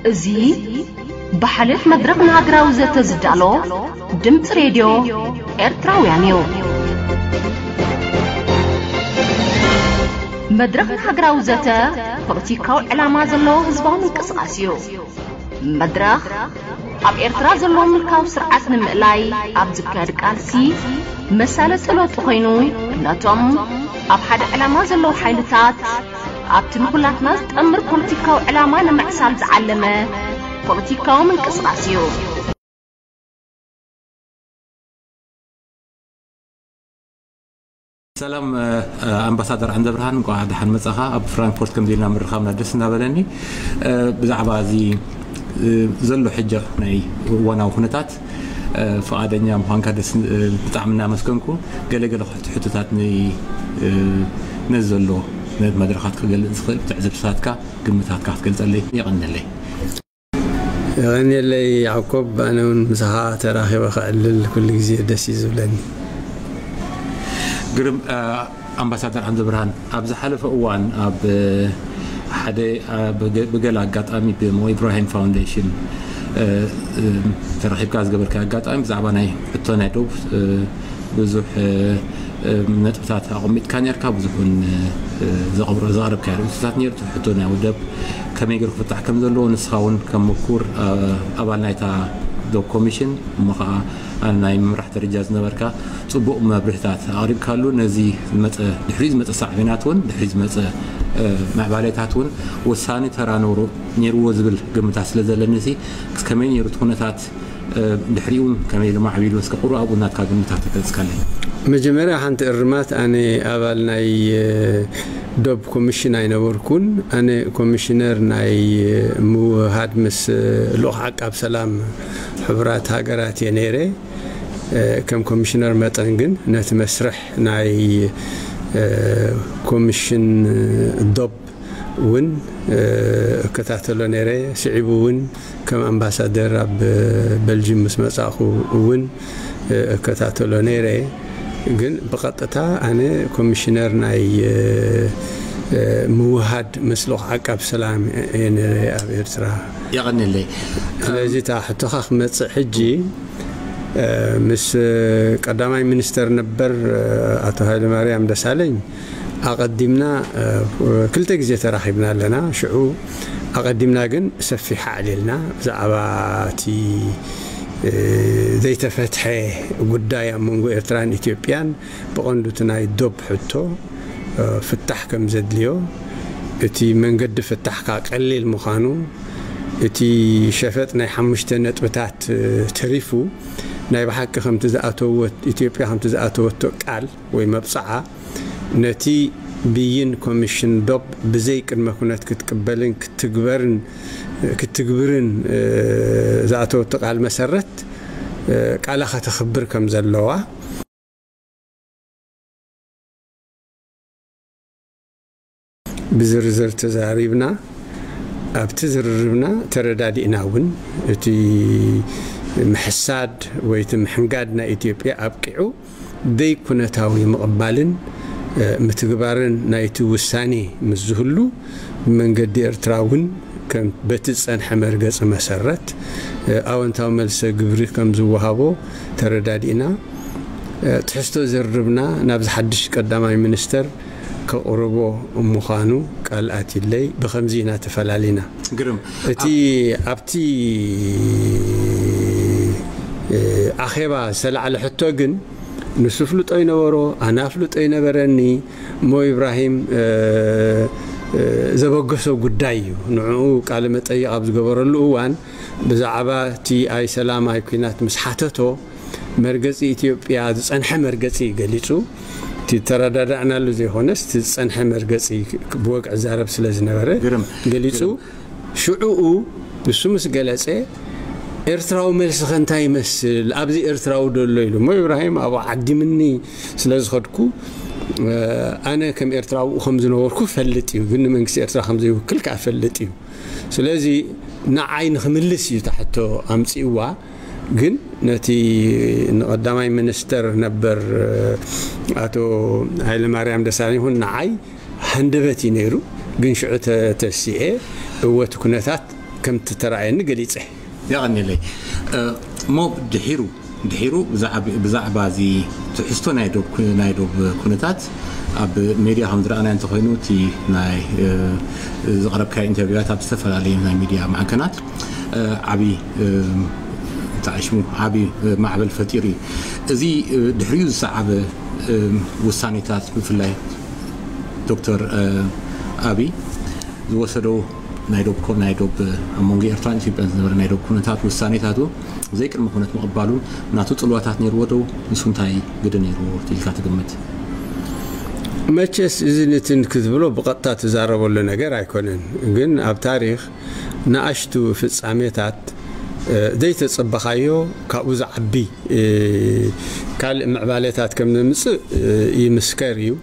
እዚ ብሓልዮት መድረኽ ንሃገራዊ ዘተ ዝዳሎ ድምፂ ሬድዮ ኤርትራውያን እዩ። መድረኽ ንሃገራዊ ዘተ ፖለቲካዊ ዕላማ ዘለዎ ህዝባዊ ምንቅስቓስ እዩ። መድረኽ ኣብ ኤርትራ ዘሎ ምልካዊ ስርዓት ንምእላይ ኣብ ዝካየድ ቃልሲ መሳለጢ ለውጢ ኮይኑ፣ ነቶም ኣብ ሓደ ዕላማ ዘለዉ ሓይልታት ኣብቲ ንኹላትና ዝጠምር ፖለቲካዊ ዕላማ ንምዕሳል ዝዓለመ ፖለቲካዊ ምንቅስቓስ እዩ። ሰላም። ኣምባሳደር ዓንደብርሃን፣ እንኳዕ ደሓን መጻኻ። ኣብ ፍራንክፎርት ከምዚ ኢልና ምርኻብና ደስ እናበለኒ። ብዛዕባ እዚ ዘሎ ሕጂ ናይ እዋናዊ ኩነታት ፍቓደኛ ምዃንካ ደስ ብጣዕሚ እናመስገንኩ፣ ገለ ገለ ሕቶታት ነዚ ዘሎ ነቲ መድረኻት ክገልጽ ዝኽእል ትዕዝብትታትካ፣ ግምታትካ ክትገልጸለይ የቐንለይ። የቐንየለይ ያዕቆብ፣ ኣነ እውን ምሳኻ ተራኺበ ከዕልል ኩሉ ግዜ ደስ እዩ ዝብለኒ። ግርም። ኣምባሳደር ዓንደብርሃን፣ ኣብ ዝሓለፈ እዋን ኣብ ሓደ ብገለ ኣጋጣሚ ብሞ ኢብራሂም ፋውንዴሽን ተረኺብካ ዝገበርካ ኣጋጣሚ ብዛዕባ ናይ ሕቶ ናይ ዶብ ብዙሕ ነጥብታት ኣቐሚጥካ ነርካ። ብዙሕ እውን ዘቕርብካ ርእይቶታት ነይሩ። ሕቶ ናይ ወደብ ከመይ ገይሩ ክፍታሕ ከም ዘለዎ ንስኻ እውን ከም ምኩር ኣባል ናይታ ዶብ ኮሚሽን እሞ ከዓ ኣብ ናይ ምምራሕ ደረጃ ዝነበርካ ጽቡቕ መብርህታት ኣቕሪብካሉ። ነዚ ዝመጸ ድሕሪኡ ዝመጸ ሳዕቤናት እውን ድሕሪኡ ዝመጸ ምዕባሌታት እውን ወሳኒ ተራ ነይርዎ ዝብል ግምታት ስለ ዘለኒ ሲ ከመይ ነይሩ እቲ ኩነታት ድሕሪኡ ከመይ ኢሉ ማዕቢሉ እስከ ቁሩብ ኣብኡ ናትካ ግምታት ተገልጽካለይ። መጀመርያ ሓንቲ እርማት፣ ኣነ ኣባል ናይ ዶብ ኮሚሽን ኣይነበርኩን። ኣነ ኮሚሽነር ናይ ምውህሃድ ምስ ልኡኽ ዓቃብ ሰላም ሕቡራት ሃገራት እየ ነይረ። ከም ኮሚሽነር መጠን ግን ነቲ መስርሕ ናይ ኮሚሽን ዶብ እውን እከታተሎ ነይረ። ስዒቡ እውን ከም ኣምባሳደር ኣብ በልጅም ምስ መጻእኹ እውን እከታተሎ ነይረ። ግን ብቐጥታ ኣነ ኮሚሽነር ናይ ምውሃድ መስልኽ ዓቃብ ሰላም እየ ነይረ ኣብ ኤርትራ። የቐንለይ። ስለዚ እታ ሕቶኻ ክመጽእ ሕጂ ምስ ቀዳማይ ሚኒስተር ነበር ኣቶ ሃይለማርያም ደሳለኝ ኣቐዲምና ክልተ ግዜ ተራኺብና ኣለና። ሽዑ ኣቐዲምና ግን ሰፊሕ ኣዕሊልና ብዛዕባ እቲ ዘይተፈትሐ ጉዳይ ኣብ መንጎ ኤርትራን ኢትዮጵያን ብቐንዱ እቲ ናይ ዶብ ሕቶ ፍታሕ ከም ዘድልዮ፣ እቲ መንገዲ ፍታሕካ ቀሊል ምዃኑ፣ እቲ ሸፈጥ ናይ ሓሙሽተ ነጥብታት ተሪፉ ናይ ብሓቂ ከምቲ ዝኣተወት ኢትዮጵያ ከምቲ ዝኣተወቶ ቃል ወይ መብጽዓ ነቲ ብይን ኮሚሽን ዶብ ብዘይ ቅድመ ኩነት ክትቅበልን ክትግበርን ክትትግብርን ዝኣተወቶ ቃል መሰረት ቃላ ከተኽብር ከም ዘለዋ ብዝርዝር ተዛሪብና። ኣብቲ ዝርርብና ተረዳዲእና እውን እቲ ምሕሳድ ወይ እቲ ምሕንጋድ ናይ ኢትዮጵያ ኣብቂዑ ደይኩነታዊ ምቕባልን ምትግባርን ናይቲ ውሳኔ ምስ ዝህሉ ብመንገዲ ኤርትራ እውን ከም በቲ ዝጸንሐ መርገጺ መሰረት ኣወንታዊ መልሰ ግብሪ ከም ዝወሃቦ ተረዳዲእና። ትሕዝቶ ዝርርብና ናብዚ ሓድሽ ቀዳማይ ሚኒስተር ከቕርቦ ምዃኑ ቃል ኣትዩለይ። ብኸምዚ ኢና ተፈላሊና። ግርም። እቲ ኣብቲ ኣኼባ ዝተላዕለ ሕቶ ግን ንሱ ፍልጦ ይነበሮ፣ ኣነ ኣፍልጦ ይነበረኒ። ሞ ኢብራሂም ዘበገሶ ጉዳይ እዩ። ንዕኡ ቃለ መጠይቕ ኣብ ዝገበረሉ እዋን ብዛዕባ እቲ ኣይ ሰላም ኣይ ኲናት ምስ ሓተቶ መርገጺ ኢትዮጵያ ዝጸንሐ መርገጺ ገሊጹ። እቲ ተረዳዳእናሉ ዘይኮነስ እቲ ዝጸንሐ መርገጺ ብወግዒ ዛረብ ስለ ዝነበረ ግርም። ገሊጹ። ግርም። ሽዑኡ ንሱ ምስ ገለጸ ኤርትራዊ መልስኸ እንታይ ይመስል ኣብዚ ኤርትራዊ ደሎ ኢሉ እሞ ኢብራሂም ኣብኡ ዓዲምኒ ስለ ዝኸድኩ ኣነ ከም ኤርትራዊ ከም ዝነበርኩ ፈልጥ እዩ ግን ንመንግስቲ ኤርትራ ከም ዘይውክል ከዓ ፈልጥ እዩ ስለዚ ንዓይ ንክምልስ እዩ ታሕቶ ኣምፅእዋ ግን ነቲ ንቐዳማይ ሚኒስተር ነበር ኣቶ ሃይለማርያም ደሳለኝ ይኹን ንዓይ ሃንደበት እዩ ነይሩ ግን ሽዑ ተሲኤ እወ እቲ ኩነታት ከምቲ ተራእየኒ ገሊጸ። የቐንየለይ። እሞ ድሒሩ ድሒሩ ብዛዕባ እዚ ትሕዝቶ ናይ ዶብ ኩነታት ኣብ ሜድያ ከም ዝረኣናዮ እንተኮይኑ፣ እቲ ናይ ዘቕረብካዮ ኢንተርቪዋት ኣብ ዝተፈላለዩ ናይ ሚድያ ማዕከናት ዓብዪ፣ እንታይ ሽሙ፣ ዓብዪ ማዕበል ፈጢሩ እዩ። እዚ ድሕሪኡ ዝሰዓበ ውሳኔታት፣ ብፍላይ ዶክተር ኣብይ ዝወሰዶ ናይ ዶብ ኮ- ናይ ዶብ ኣብ መንጎ ኤርትራን ኢትዮጵያን ዝነበረ ናይ ዶብ ኩነታት ውሳኔታቱ ዘይቅድመ ኩነት ምቕባሉ ናቱ ጽልዋታት ነይርዎ ዶ? ንሱ እንታይ ግደ ነይርዎ ኢልካ ትግምት? መቸስ እዚ ንትን ክትብሎ ብቐጥታ ትዛረበሉ ነገር ኣይኮነን፣ ግን ኣብ ታሪኽ ንኣሽቱ ፍጻሜታት ዘይተጸበኻዮ ካብኡ ዝዓቢ ካልእ ምዕባለታት ከም ዘምጽእ ይምስከር እዩ።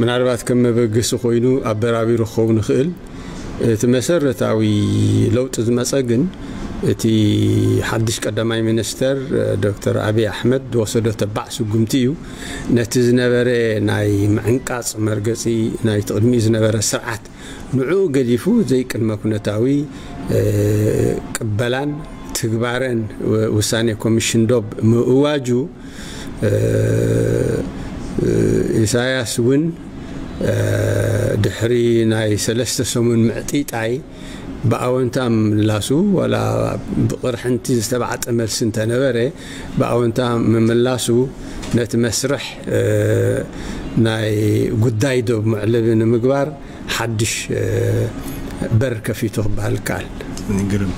ምናልባት ከም መበገሲ ኮይኑ ኣበራቢሩ ክኸውን ይኽእል። እቲ መሰረታዊ ለውጢ ዝመጸ ግን እቲ ሓድሽ ቀዳማይ ሚኒስተር ዶክተር ኣብይ ኣሕመድ ዝወሰዶ ተባዕ ስጉምቲ እዩ። ነቲ ዝነበረ ናይ ምዕንቃጽ መርገጺ ናይቲ ቅድሚኡ ዝነበረ ስርዓት ንዕኡ ገዲፉ ዘይቅድመ ኩነታዊ ቅበላን ትግባረን ውሳኔ ኮሚሽን ዶብ ምእዋጁ፣ ኢሳያስ እውን ድሕሪ ናይ ሰለስተ ሰሙን ምዕጢጣይ ብኣወንታ ምምላሱ፣ ዋላ ብቕርሕንቲ ዝተባዕጠ መልሲ እንተነበረ፣ ብኣወንታ ምምላሱ ነቲ መስርሕ ናይ ጉዳይ ዶብ መዕለቢ ንምግባር ሓድሽ በር ከፊቱ ክበሃል ይከኣል። ግርም።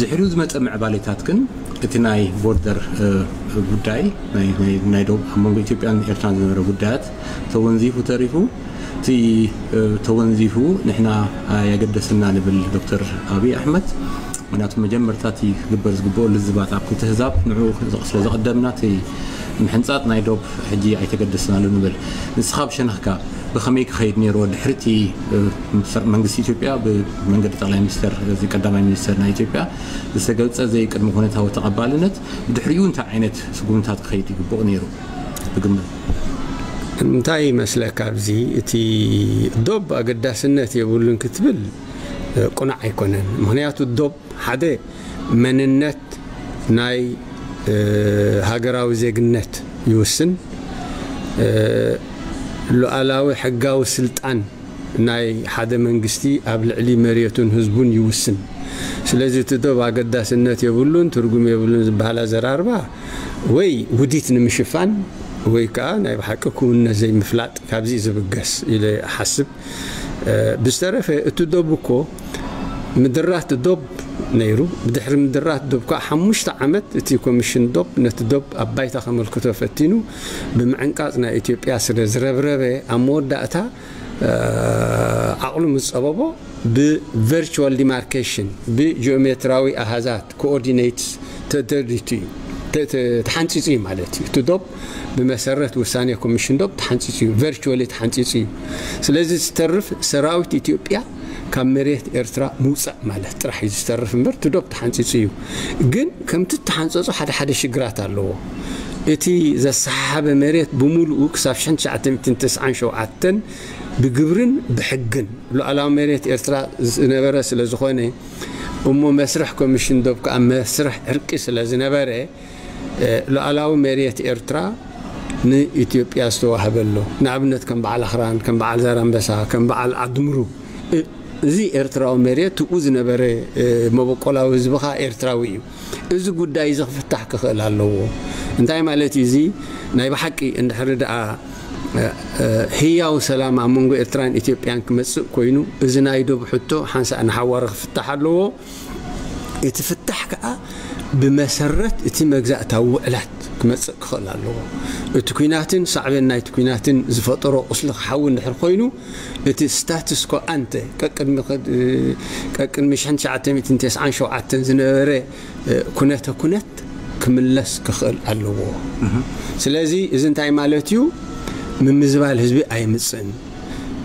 ድሕሪኡ ዝመፀ ምዕባሌታት ግን እቲ ናይ ቦርደር ጉዳይ፣ ናይ ዶብ ኣብ መንጎ ኢትዮጵያን ኤርትራን ዝነበረ ጉዳያት ተወንዚፉ ተሪፉ። እቲ ተወንዚፉ ንሕና የገደሰና ንብል ዶክተር ኣብይ ኣሕመድ፣ ምክንያቱ መጀመርታ እቲ ክግበር ዝግብኦ ልዝባት ኣብ ክልተ ህዛብ ንዑ ስለ ዘቐደምና እቲ ምሕንጻጥ ናይ ዶብ ሕጂ ኣይተገደስናሉ ንብል። ንስኻ ብሸነኽካ ብኸመይ ክኸይድ ነይርዎ? ድሕሪ እቲ መንግስቲ ኢትዮጵያ ብመንገዲ ጠቕላይ ሚኒስተር፣ እዚ ቀዳማይ ሚኒስተር ናይ ኢትዮጵያ ዝተገልጸ ዘይቅድመ ኩነታዊ ተቐባልነት፣ ብድሕሪኡ እንታይ ዓይነት ስጉምታት ክኸይድ ይግብኦ ነይሩ ብግምት? እንታይ ይመስለካ? ኣብዚ እቲ ዶብ ኣገዳስነት የብሉን ክትብል ቁኑዕ ኣይኮነን። ምክንያቱ ዶብ ሓደ መንነት ናይ ሃገራዊ ዜግነት ይውስን። ሉዓላዊ ሕጋዊ ስልጣን ናይ ሓደ መንግስቲ ኣብ ልዕሊ መሬቱን ህዝቡን ይውስን። ስለዚ እቲ ዶብ ኣገዳስነት የብሉን፣ ትርጉም የብሉን ዝበሃል ኣዘራርባ ወይ ውዲት ንምሽፋን ወይ ከዓ ናይ ብሓቂ ክውነ ዘይምፍላጥ ካብዚ ዝብገስ ኢለ እሓስብ። ብዝተረፈ እቲ ዶብ እኮ ምድራት ዶብ ነይሩ። ብድሕሪ ምድራት ዶብ ከዓ ሓሙሽተ ዓመት እቲ ኮሚሽን ዶብ ነቲ ዶብ ኣብ ባይታ ከመልክቶ ፈቲኑ ብምዕንቃጽ ናይ ኢትዮጵያ ስለ ዝረብረበ ኣብ መወዳእታ ዓቕሉ ምስ ጸበቦ ብቨርቹዋል ዲማርኬሽን ብጂኦሜትራዊ ኣሃዛት ኮኦርዲኔትስ ተደሪቱ እዩ፣ ተሓንፂፁ እዩ ማለት እዩ። እቲ ዶብ ብመሰረት ውሳኔ ኮሚሽን ዶብ ተሓንፂፁ እዩ፣ ቨርቹዋሊ ተሓንፂፁ እዩ። ስለዚ ዝተርፍ ሰራዊት ኢትዮጵያ ካብ መሬት ኤርትራ ምውፃእ ማለት ጥራሕ እዩ ዝተርፍ እምበር እቲ ዶብ ተሓንፂፁ እዩ። ግን ከምቲ ተሓንፀፁ ሓደ ሓደ ሽግራት ኣለዎ። እቲ ዘሰሓሓበ መሬት ብምሉኡ ክሳብ ሽሕን ትሽዓተ ሚእትን ተስዓን ሸውዓተን ብግብርን ብሕግን ሉዓላዊ መሬት ኤርትራ ዝነበረ ስለ ዝኾነ፣ እሞ መስርሕ ኮሚሽን ዶብ ከዓ መስርሕ ዕርቂ ስለ ዝነበረ፣ ሉዓላዊ መሬት ኤርትራ ንኢትዮጵያ ዝተዋህበ ኣሎ። ንኣብነት ከም በዓል ኣኽራን፣ ከም በዓል ዛራምበሳ፣ ከም በዓል ዓድምሩ፣ እዚ ኤርትራዊ መሬት ትኡ ዝነበረ መበቆላዊ ህዝቢ ከዓ ኤርትራዊ እዩ። እዚ ጉዳይ እዚ ክፍታሕ ክኽእል ኣለዎ። እንታይ ማለት እዩ? እዚ ናይ ብሓቂ እንድሕሪ ደኣ ህያው ሰላም ኣብ መንጎ ኤርትራን ኢትዮጵያን ክመጽእ ኮይኑ፣ እዚ ናይ ዶብ ሕቶ ሓንሳእ ንሓዋሩ ክፍታሕ ኣለዎ። እቲ ፍታሕ ከዓ ብመሰረት እቲ መግዛእታዊ ውዕላት ክመጽእ ክኽእል ኣለዎ። እቲ ኲናትን ሳዕቤን ናይቲ ኲናትን ዝፈጠሮ ቁስሊ ክሓዊ እንድሕር ኮይኑ፣ እቲ ስታትስ ኮ ኣንተ ቀቅድሚ ኸ- ቀቅድሚ ሽሕን ትሽዓተ ሚእትን ተስዓን ሸውዓተን ዝነበረ ኩነተ ኩነት ክምለስ ክኽእል ኣለዎ። ስለዚ እዚ እንታይ ማለት እዩ? ምምዝባል ህዝቢ ኣይምፅእን።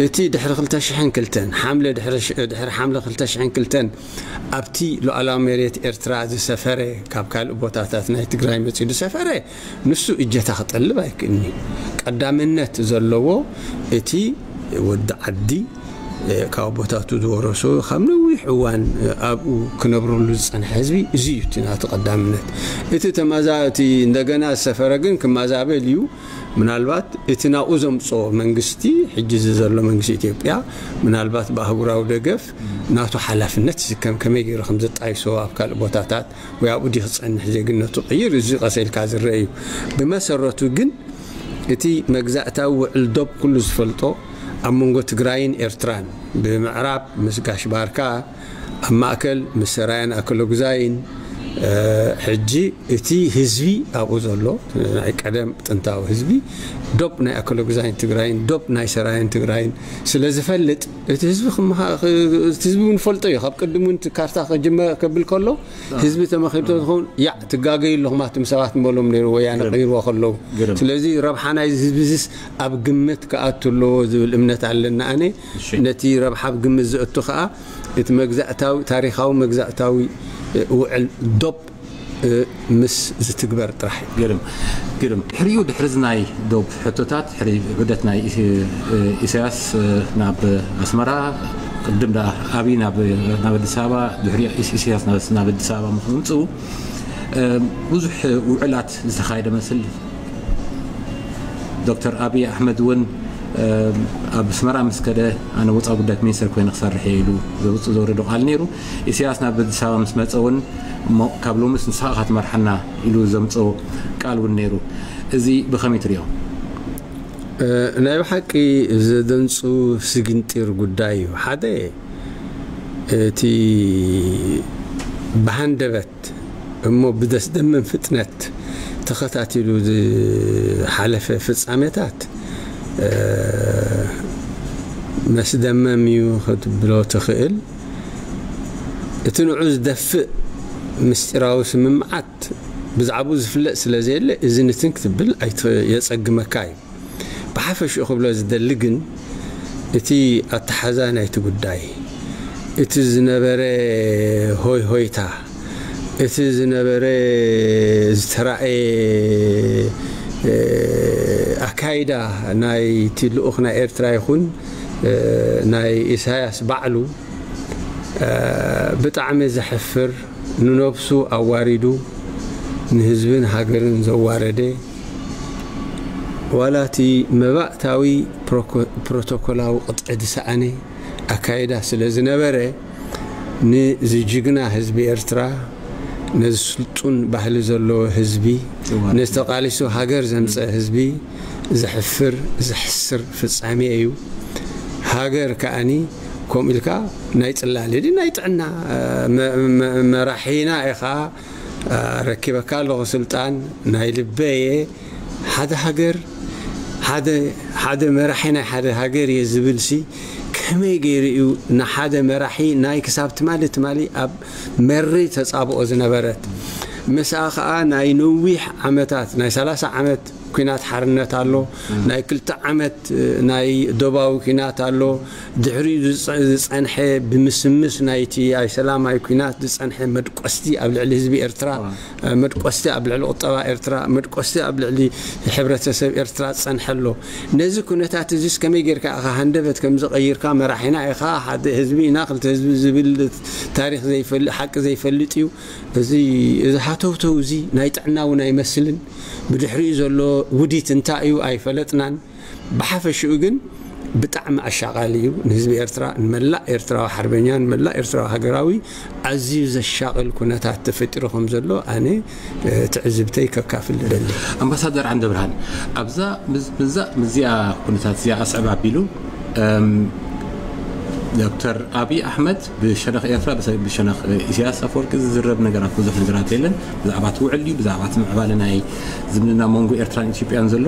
እቲ ድሕሪ ክልተ ሽሕን ክልተን ሓምለ ድሕሪ ሽ- ድሕሪ ሓምለ ክልተ ሽሕን ክልተን ኣብቲ ሉዓላዊ መሬት ኤርትራ ዝሰፈረ፣ ካብ ካልእ ቦታታት ናይ ትግራይ መፂኡ ዝሰፈረ፣ ንሱ እጀታ ክጠልብ ኣይክእልኒ። ቀዳምነት ዘለዎ እቲ ወዲ ዓዲ ካብ ኣቦታቱ ዝወረሶ ካብ ነዊሕ እዋን ኣብኡ ክነብረሉ ዝጸንሐ ህዝቢ እዚ እዩ እቲ ናቱ ቀዳምነት። እቲ ተማዛ እቲ እንደገና ዝሰፈረ ግን ክማዛበል እዩ። ምናልባት እቲ ናብኡ ዘምጽኦ መንግስቲ፣ ሕጂ እዚ ዘሎ መንግስቲ ኢትዮጵያ፣ ምናልባት ብኣህጉራዊ ደገፍ ናቱ ሓላፍነት ዝከም ከመይ ገይሩ ከም ዘጣይሶ ኣብ ካልእ ቦታታት ወይ ኣብኡ ድዩ ክጸንሕ ዜግነቱ ቅይር፣ እዚ ቀሰ ኢልካ ዝረአ እዩ። ብመሰረቱ ግን እቲ መግዛእታዊ ውዕል ዶብ ኩሉ ዝፈልጦ ኣብ መንጎ ትግራይን ኤርትራን፣ ብምዕራብ ምስ ጋሽ ባርካ፣ ኣብ ማእከል ምስ ሰራየን ኣከለጉዛይን፣ ሕጂ እቲ ህዝቢ ኣብኡ ዘሎ ናይ ቀደም ጥንታዊ ህዝቢ ዶብ ናይ ኣከለጉዛይን ትግራይን ዶብ ናይ ሰራየን ትግራይን ስለ ዝፈልጥ፣ እቲ ህዝቢ ክመሃ-፣ ክ-፣ እቲ ህዝቢ እውን ፈልጦ እዩ። ካብ ቅድም እውን እቲ ካርታ ክጅመ-፣ ከብል ከሎ ህዝቢ ተመኺሩ ተዝኸውን፣ ያዕ ትጋገዩ ኣለኹም ኣቱም ሰባት ምበሎም ነይሩ ወያነ ግርም። ቀይርዎ ከለዉ። ግርም። ስለዚ ረብሓ ናይዚ ህዝቢ እዚስ ኣብ ግምት ክኣቱ ኣለዎ ዝብል እምነት ኣለና። ኣነ እሺ። ነቲ ረብሓ ኣብ ግምት ዘእቱ ከኣ እቲ መግዛእታዊ፣ ታሪኻዊ መግዛእታዊ፣ እ፣ ውዕል ዶብ፣ እ፣ ምስ ዝትግበር ጥራሕ እዩ። ግርም፣ ግርም። ድሕሪኡ፣ ድሕሪ እዚ ናይ ዶብ ሕቶታት፣ ድሕሪ ዑደት ናይ ኢስ-፣ እ፣ ኢሳያስ፣ እ፣ ናብ ኣስመራ፣ ቅድም ደኣ ኣብይ ናብ፣ ናብ ኣዲስ ኣበባ፣ ድሕሪ ኢስ-፣ ኢሳያስ ናብ፣ ናብ ኣዲስ ኣበባ ምስ ምምጽኡ፣ እ፣ ብዙሕ ውዕላት ዝተኻየደ መስል። ዶክተር ኣብይ ኣሕመድ እውን፣ እ፣ ኣብ ኣስመራ ምስ ከደ፣ ኣነ ወጻኢ ጉዳያት ሚኒስተር ኮይነ ክሰርሕ እየ ኢሉ ዘውጽእ ዘውረዶ ቃል ነይሩ። ኢሳያስ ናብ ኣዲስ ኣበባ ምስ መጸ እውን፣ እሞ ካብ ሎምስ ንስኻ ኢኻ ትመርሓና ኢሉ ዘምጽኦ ቃል እውን ነይሩ። እዚ ብኸመይ ትሪኦ? እ፣ ናይ ብሓቂ ዘደንጹ ስግንጢር ጉዳይ እዩ። ሓደ፣ እቲ ብሃንደበት እሞ ብደስደምም ፍጥነት ተኸታቲሉ ዝሓለፈ ፍጻሜታት፣ እ፣ መስደመም እዩ ክትብሎ ትኽእል። እቲ ንዑ ዝደፍእ ምስጢራዊ ስምምዓት ብዛዕባኡ ዝፍለጥ ስለ ዘየለ፣ እዚ ንትን ክትብል ኣይት-፣ የጸግመካ እዩ። ብሓፈሽኡ ክብሎ ዝደሊ ግን፣ እቲ ኣተሓዛ ናይቲ ጉዳይ፣ እቲ ዝነበረ ሆይ ሆይታ፣ እቲ ዝነበረ ዝተራእየ፣ እ፣ ኣካይዳ ናይቲ ልኡኽ ናይ ኤርትራ ይኹን፣ እ፣ ናይ ኢሳያስ ባዕሉ፣ እ፣ ብጣዕሚ ዘሕፍር፣ ንነብሱ ኣዋሪዱ ንህዝብን ሃገርን ዘዋረደ፣ ዋላ እቲ መባእታዊ ፕሮኮ-፣ ፕሮቶኮላዊ ቅጥዒ ዝሰኣነ ኣካይዳ ስለ ዝነበረ፣ ንዚ ጅግና ህዝቢ ኤርትራ፣ ነዚ ስልጡን ባህሊ ዘለዎ ህዝቢ፣ ዘዋርድ። ነዚ ተቃሊሱ ሃገር ዘምጸ ህዝቢ ዘሕፍር፣ ዘሕስር ፍጻሜ እዩ። ሃገር ከኣኒ ከምኡ ኢልካ ናይ ጽላል ድዩ ናይ ጥዕና መ-፣ መ-፣ መራሒና ኢኻ፣ ረኪበካ ኣለኹ ስልጣን፣ ናይ ልበየ። ሓደ ሃገር፣ ሓደ፣ ሓደ መራሒ ናይ ሓደ ሃገር እየ ዝብል ሲ ከመይ ገይሩ እዩ ንሓደ መራሒ ናይ ክሳብ ትማሊ፣ ትማሊ ኣብ መሪ ተጻብኦ ዝነበረት፣ ምስኣ ኸኣ ናይ ነዊሕ ዓመታት፣ ናይ ሰላሳ ዓመት ኲናት ሓርነት ኣሎ፣ ናይ ክልተ ዓመት ናይ ዶባዊ ኲናት ኣሎ፣ ድሕሪኡ ዝጸ-፣ ዝጸንሐ ብምስምስ ናይቲ ኣይ ሰላማዊ ኲናት ዝጸንሐ መድቆስቲ ኣብ ልዕሊ ህዝቢ ኤርትራ፣ እዋ። መድቆስቲ ኣብ ልዕሊ ቁጠባ ኤርትራ፣ መድቆስቲ ኣብ ልዕሊ ሕብረተሰብ ኤርትራ ዝጸንሐ ኣሎ። ነዚ ኩነታት እዚስ ከመይ ጌርካ ኢኻ ሃንደበት ከም ዝቐይርካ፣ መራሒና ኢኻ፣ ሓደ ህዝቢ ኢና፣ ክልተ ህዝቢ ዝብል ታሪኽ ዘይፈል-፣ ሓቂ ዘይፈልጥ እዩ። እዚ፣ እዚ ሃተውተው እዚ ናይ ጥዕና እውን ኣይመስልን። ብድሕሪኡ ዘሎ ውዲት እንታይ እዩ ኣይፈለጥናን። ብሓፈሽኡ ግን ብጣዕሚ ኣሻቓሊ እዩ ንህዝቢ ኤርትራ፣ ንመላእ ኤርትራዊ ሓርበኛ፣ ንመላእ ኤርትራዊ ሃገራዊ ኣዝዩ ዘሻቕል ኩነታት ተፈጢሩ ከም ዘሎ ኣነ፣ እ፣ ትዕዝብተይ ከካፍል እደሊ። ኣምባሳደር ዓንደብርሃን፣ ኣብዛ፣ ምዝ-፣ ምዛ-፣ ምዚኣ ኩነታት እዚኣ ኣስዕብ ኣቢሉ፣ እም፣ ዶክተር ኣብይ ኣሕመድ ብሸነኽ ኤርትራ፣ ብሰ-፣ ብሸነኽ ኢሳያስ ኣፈወርቂ ዝዝረብ ነገራት፣ ብዙሕ ነገራት የለን። ብዛዕባ እቲ ውዕል ድዩ፣ ብዛዕባ እቲ ምዕባለ ናይ ዝምድና መንጎ ኤርትራን ኢትዮጵያን ዘሎ፣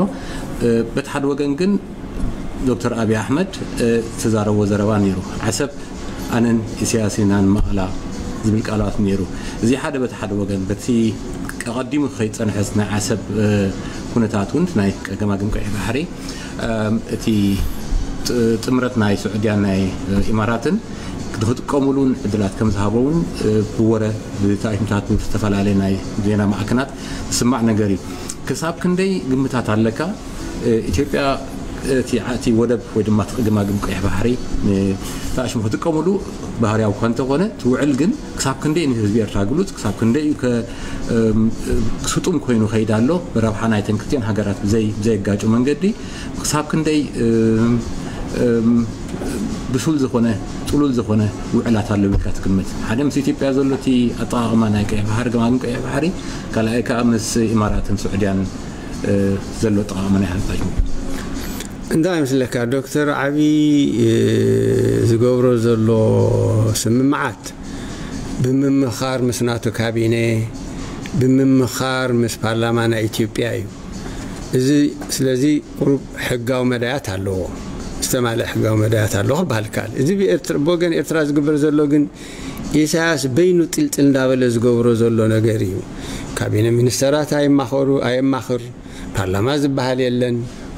እ፣ በቲ ሓደ ወገን ግን ዶክተር ኣብይ ኣሕመድ፣ እ፣ ዝተዛረቦ ዘረባ ነይሩ። ዓሰብ ኣነን ኢሳያስ ኢና ንመቐላ ዝብል ቃላት ነይሩ። እዚ ሓደ በቲ ሓደ ወገን፣ በቲ ቀቐዲሙ ከይጸንሐስ ናይ ዓሰብ፣ እ፣ ኩነታት እውን ናይ ገማግም ቀይሕ ባሕሪ፣ እም፣ እቲ ጥ-፣ ጥምረት ናይ ስዑድያን ናይ፣ እ፣ ኢማራትን ንኽጥቀሙሉ እውን ዕድላት ከም ዝሃቦ እውን፣ እ፣ ብወረ፣ ብታይምታት፣ ብዝተፈላለየ ናይ ዜና ማዕከናት ዝስማዕ ነገር እዩ። ክሳብ ክንደይ ግምታት ኣለካ? እ፣ ኢትዮጵያ እቲ ዓእቲ ወደብ ወይ ድማ እቲ ገማግም ቀይሕ ባሕሪ ንተኣሽሙ ክጥቀምሉ ባህርያዊ እኳ እንተኾነ፣ እቲ ውዕል ግን ክሳብ ክንደይ ንህዝቢ ኤርትራ ግሉጽ፣ ክሳብ ክንደይ እዩ ከ-፣ እም፣ ስጡም ኮይኑ ከይድ ኣሎ፣ ረብሓ ናይተን ክልቲኦን ሃገራት ብዘይ-፣ ብዘየጋጩ መንገዲ ክሳብ ክንደይ፣ እም፣ እም፣ ብሱል ዝኾነ፣ ጽሉል ዝኾነ ውዕላት ኣለዉ ኢልካ ትግምት? ሓደ ምስ ኢትዮጵያ ዘሎ እቲ ኣጠቓቕማ ናይ ቀይሕ ባሕሪ፣ ገማግም ቀይሕ ባሕሪ፣ ካልኣይ ከኣ ምስ ኢማራትን ስዑድያን እ፣ ዘሎ ኣጠቓቕማ ናይ ሓንጻጅ? እንታይ ይመስለካ ዶክተር ዓብዪ፣ እ፣ ዝገብሮ ዘሎ ስምምዓት ብምምኻር ምስ ናቱ ካቢነ፣ ብምምኻር ምስ ፓርላማ ናይ ኢትዮጵያ እዩ። እዚ ስለዚ ቁሩብ ሕጋዊ መዳያት ኣለዎ፣ ዝተማልአ ሕጋዊ መዳያት ኣለዎ ክበሃል ይከኣል። እዚ ብኤርትራ፣ ብወገን ኤርትራ ዝግበር ዘሎ ግን ኢሳያስ በይኑ ጥልጥል እንዳበለ ዝገብሮ ዘሎ ነገር እዩ። ካቢነ ሚኒስተራት ኣይማኸሩ፣ ኣየማኽር፣ ፓርላማ ዝበሃል የለን፣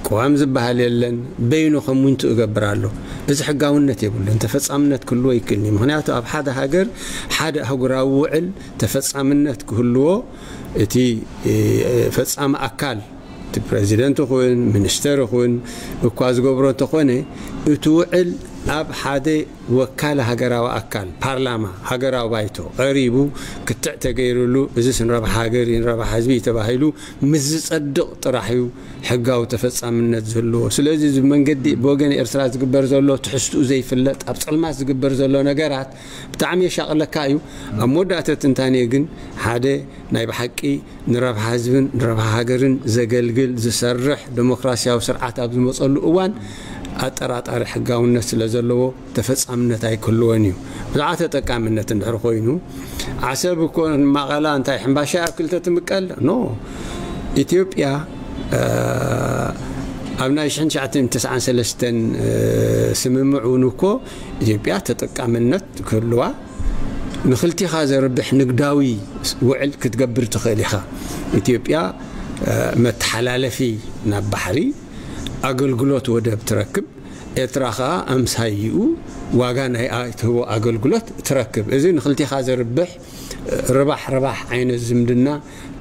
ቅዋም ዝበሃል የለን፣ በይኑ ከም ውንቱ እገብር ኣሎ። እዚ ሕጋውነት የብሉን፣ ተፈጻምነት ክህልዎ ይክእልኒ። ምኽንያቱ ኣብ ሓደ ሃገር ሓደ ኣህጉራዊ ውዕል ተፈጻምነት ክህልዎ እቲ፣ እ፣ ፈጻሚ ኣካል እቲ ፕረዚደንት ይኹን ሚኒስተር ይኹን እኳ ዝገብሮ እንተኾነ፣ እቲ ውዕል ኣብ ሓደ ወካሊ ሃገራዊ ኣካል፣ ፓርላማ፣ ሃገራዊ ባይቶ ቀሪቡ ክትዕ ተገይሩሉ፣ እዚስ ንረብሓ ሃገር እዩ፣ ንረብሓ ህዝቢ እዩ ተባሂሉ ምስ ዝጸድቕ ጥራሕ እዩ ሕጋዊ ተፈጻምነት ዝህልዎ። ስለዚ እዚ መንገዲ ብወገን ኤርትራ ዝግበር ዘሎ ትሕዝትኡ ዘይፍለጥ፣ ኣብ ጸልማት ዝግበር ዘሎ ነገራት ብጣዕሚ የሻቕለካ እዩ። ኣብ መወዳእታ ትንታኔ ግን ሓደ ናይ ብሓቂ ንረብሓ ህዝብን ንረብሓ ሃገርን ዘገልግል፣ ዝሰርሕ ደሞክራሲያዊ ስርዓት ኣብ ዝመጸሉ እዋን ኣጠራጣሪ ሕጋውነት ስለ ዘለዎ ተፈጻምነት ኣይክህልዎን እዩ። ብዛዕባ ተጠቃምነት እንድሕር ኮይኑ፣ ዓሰብ እኮ ንማቐላ እንታይ ሕምባሻ ኣብ ክልተ ትምቀል? ኖ። ኢትዮጵያ፣ እ፣ ኣብ ናይ ሽሕን ትሽዓተ ሚእትን ተስዓን ሰለስተን፣ እ፣ ስምምዕ እውን እኮ ኢትዮጵያ ተጠቃምነት ክህልዋ ንክልቲኻ ዘርብሕ ንግዳዊ ውዕል ክትገብር ትኽእል ኢኻ። ኢትዮጵያ፣ እ፣ መተሓላለፊ ናብ ባሕሪ ኣገልግሎት ወደብ ትረክብ፣ ኤርትራ ኸኣ ኣምሳይኡ ዋጋ ናይ ኣ-፣ ትህቦ ኣገልግሎት ትረክብ። እዚ ንክልቲኻ ዘርብሕ፣ እ፣ ርባሕ ርባሕ ዓይነት ዝምድና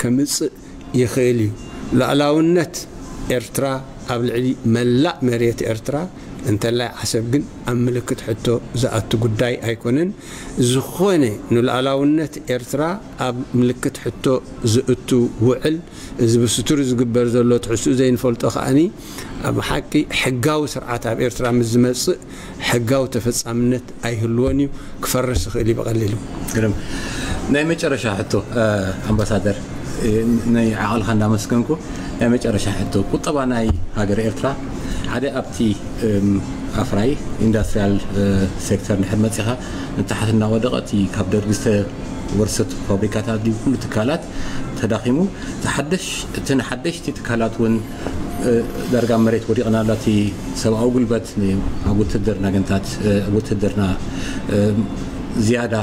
ከምጽእ ይኽእል እዩ። ሉዓላውነት ኤርትራ ኣብ ልዕሊ መላእ መሬት ኤርትራ፣ እንተላይ ዓሰብ ግን ኣብ ምልክት ሕቶ ዝኣቱ ጉዳይ ኣይኮነን። ዝኾነ ንሉዓላውነት ኤርትራ ኣብ ምልክት ሕቶ ዝእቱ ውዕል፣ እዚ ብስቱር ዝግበር ዘሎ ትሕዝትኡ ዘይንፈልጦ ከኣኒ፣ ኣብ ሓቂ ሕጋዊ ስርዓት ኣብ ኤርትራ ምስ ዝመጽእ ሕጋዊ ተፈጻምነት ኣይህልዎን እዩ፣ ክፈርስ ይኽእል እዩ ብቐሊሉ። ግርም። ናይ መጨረሻ ሕቶ፣ እ፣ ኣምባሳደር፣ እ፣ ናይ ዓቕልኻ እንዳመስገንኩ፣ ናይ መጨረሻ ሕቶ፣ ቁጠባ ናይ ሃገር ኤርትራ ሓደ ኣብቲ፣ እም፣ ኣፍራይ ኢንዳስትሪያል፣ እ፣ ሴክተር እንድሕር መጺኻ ንታሕቲ እናወደቐ፣ እቲ ካብ ደርጊ ዝተወርሰት ፋብሪካታት ድዩ ኩሉ ትካላት ተዳኺሙ፣ እቲ ሓደሽ-፣ እቲ ንሓደሽቲ ትካላት እውን፣ እ፣ ዳርጋ መሬት ወዲቕና ኣላ። እቲ ሰብኣዊ ጉልበት ን-፣ ኣብ ውትድርና ገንታት፣ እ፣ ውትድርና፣ እ፣ ዝያዳ፣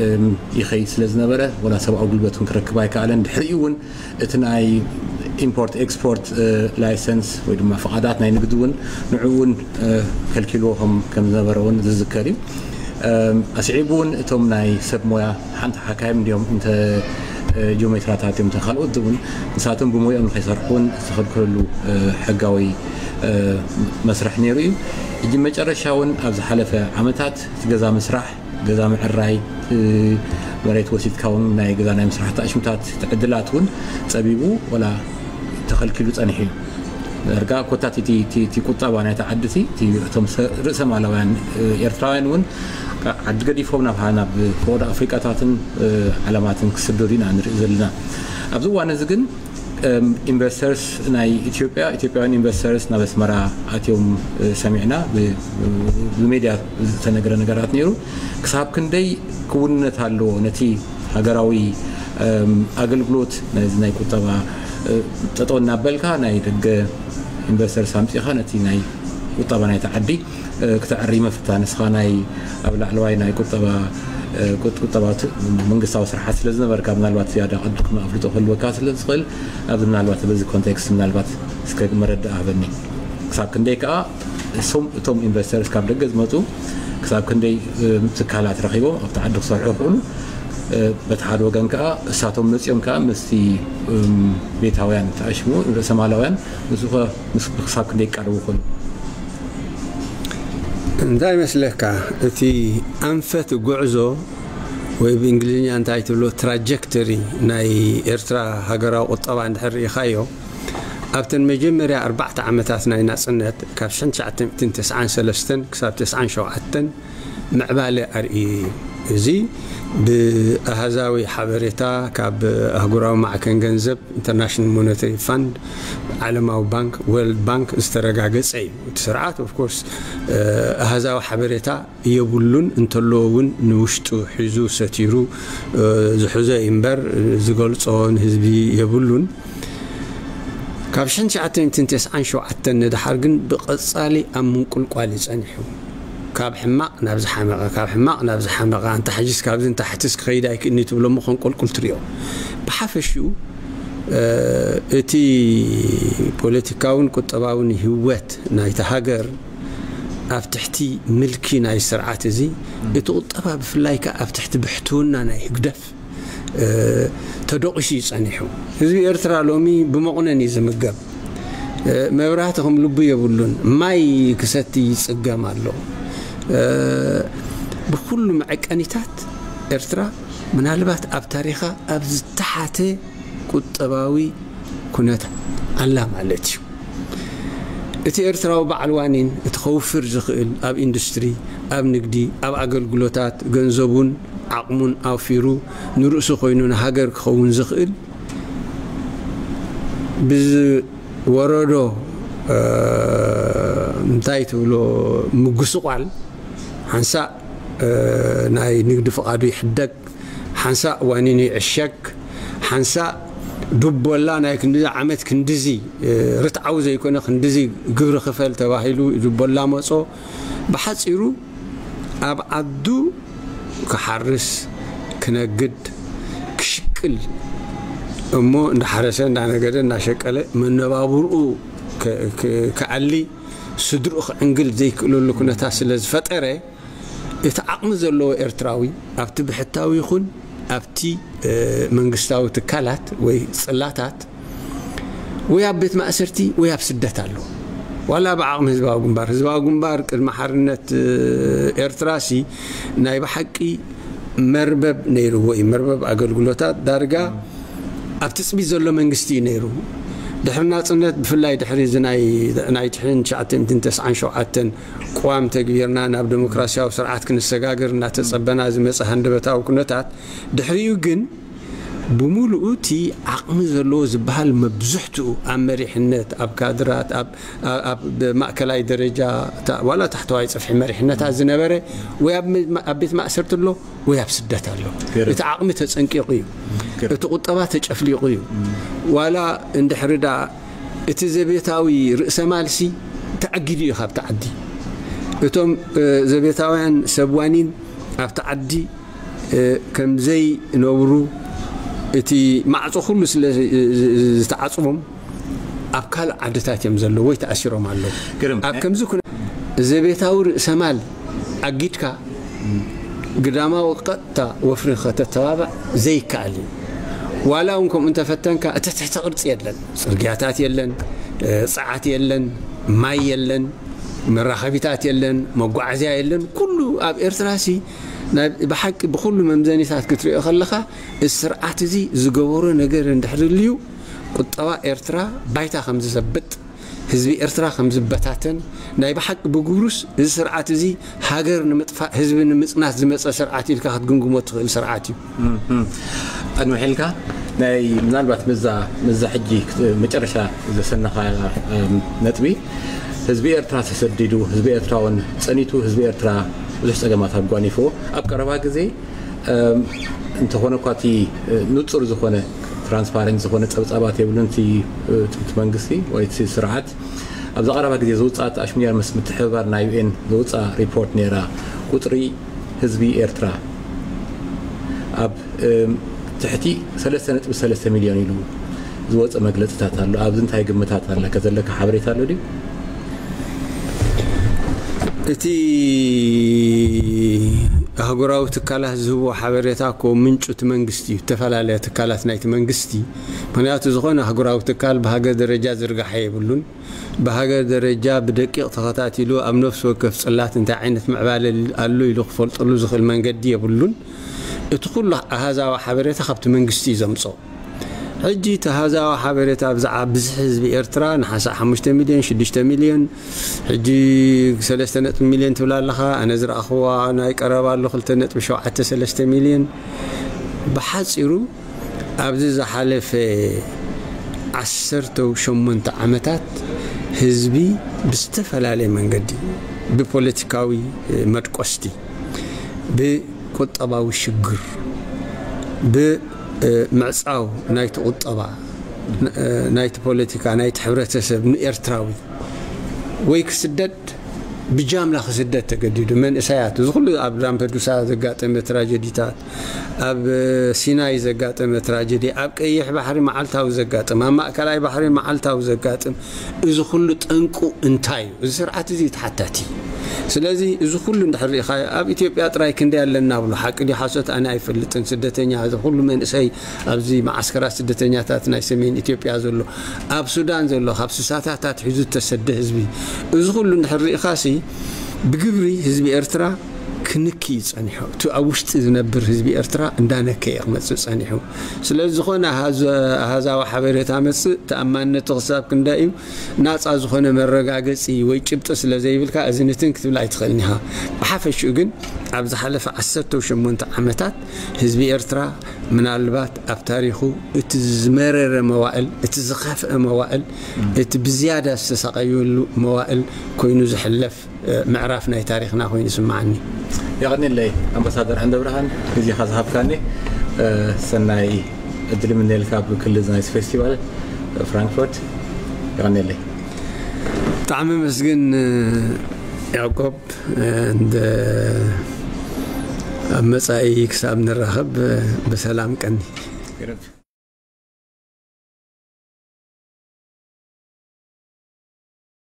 እም፣ ይኸይድ ስለ ዝነበረ፣ ወላ ሰብኣዊ ጉልበት እውን ክረክብ ኣይከኣለን። ድሕሪኡ እውን እቲ ናይ ኢምፖርት ኤክስፖርት፣ እ፣ ላይሰንስ ወይ ድማ ፍቓዳት ናይ ንግዲ እውን ንዕኡ እውን፣ እ፣ ከልኪልዎ ከም፣ ከም ዝነበረ እውን ዝዝከር እዩ። እም፣ ኣስዒቡ እውን እቶም ናይ ሰብ ሞያ ሓንቲ ሓካይም እንዲዮም እንተ፣ እ፣ ጂኦሜትራታት እዮም እንተ ካልኦት እውን ንሳቶም ብሞይኦም ንኸይሰርሑ እውን ዝተኸልከለሉ፣ እ፣ ሕጋዊ፣ እ፣ መስርሕ ነይሩ እዩ። ሕጂ መጨረሻ እውን ኣብ ዝሓለፈ ዓመታት እቲ ገዛ ምስራሕ፣ ገዛ ምዕራይ፣ እ፣ መሬት ወሲድካ እውን ናይ ገዛ ናይ ምስራሕ ተኣሽምታት እቲ ዕድላት እውን ጸቢቡ ወላ ተኸልኪሉ ጸኒሑ እዩ። ዳርጋ ኮታት እቲ፣ እቲ፣ እቲ ቁጠባ ናይታ ዓዲ እቲ፣ እቲ እቶም ሰ-፣ ርእሰ ማላውያን፣ እ፣ ኤርትራውያን እውን ካብ ዓዲ ገዲፎም ናብ፣ ናብ ፈቐዶ ኣፍሪቃታትን፣ እ፣ ዓለማትን ክስደዱ ኢና ንርኢ ዘለና። ኣብዚ እዋን እዚ ግን፣ እም፣ ኢንቨስተርስ ናይ ኢትዮጵያ፣ ኢትዮጵያውያን ኢንቨስተርስ ናብ ኣስመራ ኣትዮም፣ እ፣ ሰሚዕና። ብ-፣ ብሜድያ ዝተነገረ ነገራት ነይሩ። ክሳብ ክንደይ ክውንነት ኣለዎ ነቲ ሃገራዊ፣ እም፣ ኣገልግሎት ነዚ ናይ ቁጠባ፣ እ፣ ጠጠው እናበልካ ናይ ደገ ኢንቨስተርስ ኣምጺኻ ነቲ ናይ ቁጠባ ናይቲ ዓዲ፣ እ፣ ክተዕሪ መፍታ ንስኻ ናይ ኣብ ላዕለዋይ ናይ ቁጠባ፣ እ፣ ቁጥ-፣ ቁጠባ ት-፣ መንግስታዊ ስርሓት ስለ ዝነበርካ ምናልባት ዝያዳ ቅድም ኣፍልጦ ክህልወካ ስለ ዝኽእል ኣብዚ ምናልባት በዚ ኮንቴክስት ምናልባት እስከ መረዳእ ሃበኒ። ክሳብ ክንደይ ከኣ እሶም እቶም ኢንቨስተርስ ካብ ደገ ዝመጹ ክሳብ ክንደይ፣ እ፣ ትካላት ረኺቦም ኣብቲ ዓዲ ክሰርሑ ይኽእሉ? በቲ ሓደ ወገን ከዓ እሳቶም መፂኦም ከዓ ምስቲ ቤታውያን ተኣሽሙ ርእሰ ማላውያን ንሱ ምስ ክሳብ ክንደ ይቃረቡ ይኾኑ? እንታይ ይመስለካ? እቲ ኣንፈት ጉዕዞ ወይ ብእንግሊዝኛ እንታይ ትብሎ ትራጀክተሪ ናይ ኤርትራ ሃገራዊ ቁጠባ እንድሕር ርኢኻዮ፣ ኣብተን መጀመርያ ኣርባዕተ ዓመታት ናይ ናጽነት ካብ ሽሕን ትሽዓተ ሚእትን ተስዓን ሰለስተን ክሳብ ተስዓን ሸውዓተን ምዕባለ ኣርእዩ እዩ። እዚ ብኣሃዛዊ ሓበሬታ ካብ ኣህጉራዊ ማዕከን ገንዘብ፣ ኢንተርናሽናል ሞኔታሪ ፋንድ፣ ዓለማዊ ባንክ፣ ወርልድ ባንክ ዝተረጋገጸ እዩ። እቲ ስርዓት ኦፍ ኮርስ ኣሃዛዊ ሓበሬታ የብሉን፣ እንተለዎ እውን ንውሽጡ ሒዙ ሰቲሩ ዝሕዞ እዩ እምበር ዝገልጾ ንህዝቢ የብሉን። ካብ ሽሕን ትሽዓተ ሚእትን ተስዓን ሸውዓተን ንደሓር ግን ብቐጻሊ ኣብ ምንቁልቋል እዩ ጸኒሑ። ካብ ሕማቕ ናብ ዝሓመቐ፣ ካብ ሕማቕ ናብ ዝሓመቐ፣ ኣንታ ሕጂስ ካብዚ ንታሕትስ ክኸይድ ኣይክእልኒ ትብሎ እሞ ከንቆልቁል ትሪኦ። ብሓፈሽኡ እቲ ፖለቲካውን ቁጠባውን ህይወት ናይታ ሃገር ኣብ ትሕቲ ምልኪ ናይ ስርዓት እዚ፣ እቲ ቁጠባ ብፍላይ ከኣ ኣብ ትሕቲ ብሕትውና ናይ ህግደፍ ተደቂሱ እዩ ጸኒሑ። ህዝቢ ኤርትራ ሎሚ ብመቑነን እዩ ዝምገብ። መብራህቲ ከም ልቡ የብሉን። ማይ ክሰቲ ይጽገም ኣሎ። ብኩሉ መዐቀኒታት ኤርትራ ምናልባት ኣብ ታሪኻ ኣብ ዝተሓተ ቁጠባዊ ኩነት ኣላ ማለት እዩ። እቲ ኤርትራዊ በዓል ዋኒን እቲ ከውፍር ዝኽእል ኣብ ኢንዱስትሪ፣ ኣብ ንግዲ፣ ኣብ ኣገልግሎታት ገንዘቡን ዓቕሙን ኣውፊሩ ንርእሱ ኮይኑ ንሃገር ክኸውን ዝኽእል ብዝወረዶ እንታይ ትብሎ ምጉስቋል ሓንሳእ ናይ ንግዲ ፍቓዱ ይሕደግ፣ ሓንሳእ ዋኒኑ ይዕሸግ፣ ሓንሳእ ዱቦላ ናይ ክንድዚ ዓመት ክንድዚ ርትዓዊ ዘይኮነ ክንድዚ ግብሪ ክፈል ተባሂሉ ዱቦላ መጾ። ብሓጺሩ ኣብ ዓዱ ክሓርስ፣ ክነግድ፣ ክሽቅል እሞ እንዳሓረሰ እንዳነገደ እንዳሸቀለ መነባብርኡ ከዕሊ ስድርኡ ክዕንግል ዘይክእለሉ ኩነታት ስለ ዝፈጠረ እቲ ዓቕሚ ዘለዎ ኤርትራዊ ኣብቲ ብሕታዊ ይኹን ኣብቲ መንግስታዊ ትካላት ወይ ጽላታት ወይ ኣብ ቤት ማእሰርቲ ወይ ኣብ ስደት ኣሎ። ዋላ ብዓቕሚ ህዝባዊ ግንባር ህዝባዊ ግንባር ቅድሚ ሓርነት ኤርትራ ሲ ናይ ብሓቂ መርበብ ነይርዎ እዩ። መርበብ ኣገልግሎታት ዳርጋ ኣብ ትጽቢት ዘሎ መንግስቲ እዩ ነይሩ። ድሕሪ ናጽነት ብፍላይ ድሕሪ እዚ ናይ ናይ ትሽዓተ ሚእትን ተስዓን ሸውዓተን ቅዋም ተግቢርና ናብ ዴሞክራሲያዊ ስርዓት ክንሰጋገር እናተጸበና ዝመጸ ሃንደበታዊ ኩነታት ድሕሪኡ ግን ብምሉኡ እቲ ዓቕሚ ዘለዎ ዝበሃል መብዝሕትኡ ኣብ መሪሕነት ኣብ ካድራት ኣብ ማእከላይ ደረጃ ዋላ ታሕተዋይ ጽፍሒ መሪሕነታት ዝነበረ ወይ ኣብ ቤት ማእሰርቲ ኣሎ ወይ ኣብ ስደት ኣሎ። እቲ ዓቕሚ ተጸንቂቑ እዩ። እቲ ቁጠባ ተጨፍሊቑ እዩ። ዋላ እንድሕሪ ዳ እቲ ዘቤታዊ ርእሰ ማልሲ ተዓጊዱ እዩ ካብቲ ዓዲ። እቶም ዘቤታውያን ሰብ ዋኒን ኣብቲ ዓዲ ከም ዘይነብሩ እቲ ማዕጾ ኩሉ ስለ ዝተዓጽቦም ኣብ ካልእ ዓድታት እዮም ዘለዉ ወይ ተኣሲሮም ኣለዉ። ኣብ ከምዚ ኩነ ዘቤታዊ ርእሰ ማል ኣጊድካ ግዳማዊ ቀጥታ ወፍሪ ከተተባብዕ ዘይከኣል እዩ። ዋላ እውን ከምኡ እንተፈተንካ እቲ ትሕቲ ቅርጺ የለን፣ ጽርግያታት የለን፣ ጸዓት የለን፣ ማይ የለን፣ መራኸቢታት የለን፣ መጓዓዝያ የለን። ኩሉ ኣብ ኤርትራ ሲ ብሓቂ ብኩሉ መምዘኒታት ክትሪኦ ከለኻ እዚ ስርዓት እዚ ዝገበሮ ነገር እንድሕር ልዩ ቁጠባ ኤርትራ ባይታ ከም ዝዘብጥ ህዝቢ ኤርትራ ከም ዝበታተን ናይ ብሓቂ ብግብሩስ እዚ ስርዓት እዚ ሃገር ንምጥፋእ ህዝቢ ንምጽናት ዝመጸ ስርዓት ኢልካ ክትግምግሞ ትኽእል ስርዓት እዩ። ኣንውሕ ኢልካ ናይ ምናልባት ምዛ ምዛ ሕጂ መጨረሻ ዘሰነኻ ነጥቢ ህዝቢ ኤርትራ ተሰዲዱ ህዝቢ ኤርትራ እውን ጸኒቱ ህዝቢ ኤርትራ ብዙሕ ጸገማት ኣጓኒፍዎ ኣብ ቀረባ ግዜ እንተኾነ እኳ እቲ ንጹር ዝኾነ ትራንስፓረንት ዝኾነ ጸብጻባት የብሉን። እቲ መንግስቲ ወይ እቲ ስርዓት ኣብዛ ቀረባ ግዜ ዝውፅኣ ኣሽሙያ ምስ ምትሕብባር ናይ ዩኤን ዝውፅኣ ሪፖርት ነይራ። ቁፅሪ ህዝቢ ኤርትራ ኣብ ትሕቲ ሰለስተ ነጥቢ ሰለስተ ሚልዮን ኢሉ ዝወፀ መግለፅታት ኣሎ። ኣብዚ እንታይ ግምታት ኣለካ? ዘለካ ሓበሬታ ኣሎ ድዩ? እቲ ኣህጉራዊ ትካላት ዝህብዎ ሓበሬታ እኮ ምንጩ እቲ መንግስቲ እዩ፣ ዝተፈላለያ ትካላት ናይቲ መንግስቲ። ምክንያቱ ዝኾነ ኣህጉራዊ ትካል ብሃገር ደረጃ ዝርጋሐ የብሉን። ብሃገር ደረጃ ብደቂቕ ተኸታቲሉ ኣብ ነፍሲ ወከፍ ጽላት እንታይ ዓይነት ምዕባለ ኣሎ ኢሉ ክፈልጠሉ ዝኽእል መንገዲ የብሉን። እቲ ኩሉ ኣሃዛዊ ሓበሬታ ካብቲ መንግስቲ እዩ ዘምጽኦ። ሕጂ እቲ ኣሃዛዊ ሓበሬታ ብዛዕባ ብዝሒ ህዝቢ ኤርትራ ንሓሳእ ሓሙሽተ ሚልዮን ሽዱሽተ ሚልዮን፣ ሕጂ ሰለስተ ነጥቢ ሚልዮን ትብል ኣለኻ። ኣነ ዝረኣኽዋ ናይ ቀረባ ኣሎ ክልተ ነጥቢ ሸውዓተ ሰለስተ ሚልዮን። ብሓጺሩ ኣብዚ ዝሓለፈ ዓሰርተ ሸሞንተ ዓመታት ህዝቢ ብዝተፈላለየ መንገዲ፣ ብፖለቲካዊ መድቆስቲ፣ ብቁጠባዊ ሽግር፣ ብምዕጻው ናይቲ ቁጠባ፣ ናይቲ ፖለቲካ፣ ናይቲ ሕብረተሰብ ንኤርትራዊ ወይ ክስደድ፣ ብጃምላ ክስደድ ተገዲዱ። መንእሰያት፣ እዚ ኩሉ ኣብ ላምፐዱሳ ዘጋጠመ ትራጀዲታት፣ ኣብ ሲናይ ዘጋጠመ ትራጀዲ፣ ኣብ ቀይሕ ባሕሪ መዓልታዊ ዘጋጥም፣ ኣብ ማእከላይ ባሕሪ መዓልታዊ ዘጋጥም፣ እዚ ኩሉ ጠንቁ እንታይ እዩ? እዚ ስርዓት እዚ ተሓታቲ። ስለዚ እዚ ኩሉ እንድሕር ርኢኻ፣ ኣብ ኢትዮጵያ ጥራይ ክንደይ ኣለና ብሎ፣ ሓቂ ድዩ ሓሶት ኣነ ኣይፈልጥን። ስደተኛ፣ እዚ ኩሉ መንእሰይ ኣብዚ መዓስከራት ስደተኛታት ናይ ሰሜን ኢትዮጵያ ዘሎ፣ ኣብ ሱዳን ዘሎ ካብ ስሳታት ኣትሒዙ ዝተሰደ ህዝቢ፣ እዚ ኩሉ እንድሕር ርኢኻሲ፣ ብግብሪ ህዝቢ ኤርትራ ክንኪ እዩ ጸኒሑ። እቲ ኣብ ውሽጢ ዝነብር ህዝቢ ኤርትራ እንዳነከየ ክመጽእ ጸኒሑ። ስለዚ ዝኾነ ኣሃዘ-፣ ኣሃዛዊ ሓበሬታ መጽእ፣ ተኣማንነቱ ክሳብ ክንደይ እዩ፣ ናጻ ዝኾነ መረጋገጺ ወይ ጭብጢ ስለ ዘይብልካ፣ እዚ ንትን ክትብል ኣይትኽእልን ኢኻ። ብሓፈሽኡ ግን፣ ኣብ ዝሓለፈ ዓሰርተ ሸሞንተ ዓመታት ህዝቢ ኤርትራ ምናልባት ኣብ ታሪኹ እቲ ዝመረረ መዋእል፣ እቲ ዝኸፍአ መዋእል፣ እቲ ብዝያዳ ዝተሳቐየሉ መዋእል ኮይኑ ዝሕለፍ፣ እ፣ ምዕራፍ ናይ ታሪኽና ኮይኑ ይስምዓኒ። የቐንየለይ ኣምባሳደር ዓንደብርሃን፣ ግዜኻ ዝሃብካኒ፣ እ፣ ሰናይ ዕድል ይምነየልካ ኣብ ክልል ናይዚ ፌስቲቫል፣ እ፣ ፍራንክፈርት። የቐንየለይ። ብጣዕሚ መስግን፣ እ፣ ያዕቆብ፣ እ፣ እንደ ኣብ መጻኢ ክሳብ ንራኸብ፣ እ፣ ብሰላም ቀኒ።